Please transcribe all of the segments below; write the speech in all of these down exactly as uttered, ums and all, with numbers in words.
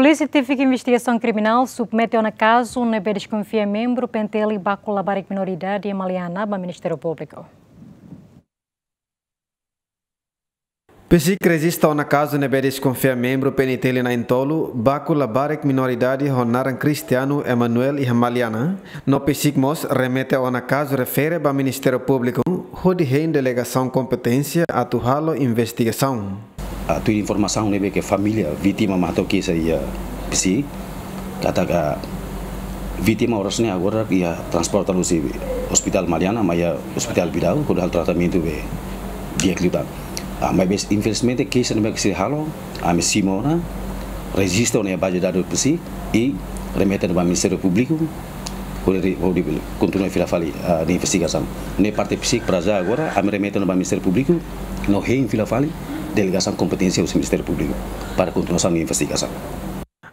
Polísia Tífika Investigasaun Kriminál submete ona kazu ne'ebé deskonfia membru PNTL baku labarik minoridade Maliana ba Ministériu Públiku. PCIC rejista ona kazu ne'ebé deskonfia membru PNTL na'in-tolu baku labarik minoridade ho naran Cristiano Emanuel iha Maliana, no PCIC mós remete ona kazu refere ba Ministériu Públiku hodi hein delegasaun kompeténsia atu halo investigasaun. Ah, tuir informasaun ne'ebé ke família vítima mak hato'o keixa iha PCIC, katak vítima oras ne'e agora iha transporta husi Hospitál Maliana mai iha Hospitál Bidau, hodi halo tratamentu be di'ak liután. Ah, maibé infelizmente keixa ne'ebé ke sei halo, ami simu ona, rejista ona iha baze dadus PCIC, i remete ona ba Ministériu Públiku, hodi, hodi kontinua fila fali, ah, nia investigasaun. Ne'e parte PCIC para já agora, ami remete ona ba Ministériu Públiku, no hein fila fali delegasaun kompeténsia husi Ministériu Públiku para kontinuasaun nia investigasaun.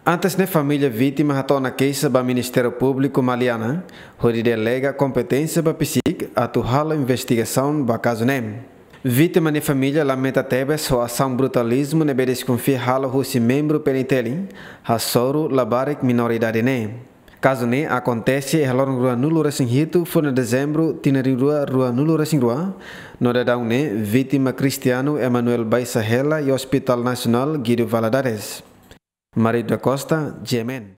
Antes ne'e família vítima hato'o ona keixa ba Ministériu Públiku Maliana, hodi delega kompeténsia ba PCIC atu halo investigasaun ba kazu ne'e. Vítima nia família lamenta tebes ho asaun brutalizmu ne'ebé deskonfia halo husi membru PNTL hasoru labarik minoridade ne'e. Kazu ne'e akontese iha loron ruanulu-resin-hitu fulan Dezembru tinan rihun rua ruanulu-resin-rua, no daudaun ne'e vítima Cristiano Emanuel baixa hela iha Hospitál Nasionál Guido Valadares. Mário da Costa, GMN.